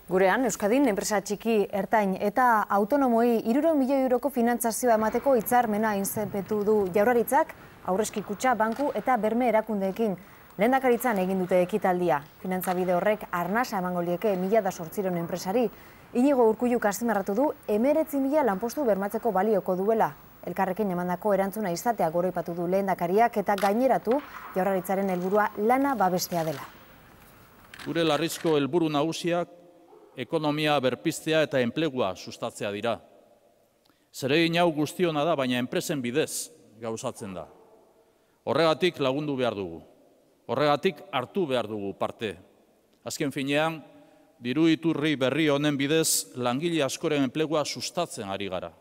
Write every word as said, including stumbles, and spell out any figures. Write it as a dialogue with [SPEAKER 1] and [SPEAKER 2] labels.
[SPEAKER 1] Gurean, Euskadin, enpresa txiki, ertain eta autonomoi hirurehun milioi euroko finantzazioa emateko hitzarmena izenpetu du Jaurlaritzak, aurrezki kutxa, banku eta berme erakundeekin. Lehendakaritzan egin dute ekitaldia. Finantzabide horrek arnasa emango lieke mila da zortziehun enpresari. Inigo Urkulluk azpimarratu du hemeretzi mila lanpostu bermatzeko balioko duela. Elkarrekin emandako erantzuna izatea goraipatu du lehendakariak eta gaineratu Jaurlaritzaren helburua lana babestea dela.
[SPEAKER 2] Gure larrizko helburu nagusiak ekonomia berpiztea eta enplegua sustatzea dira. Zeregin hau guztiona da, baina enpresen bidez gauzatzen da. Horregatik lagundu behar dugu. Horregatik hartu behar dugu parte. Azken finean, diru iturri berri honen bidez langile askoren enplegua sustatzen ari gara.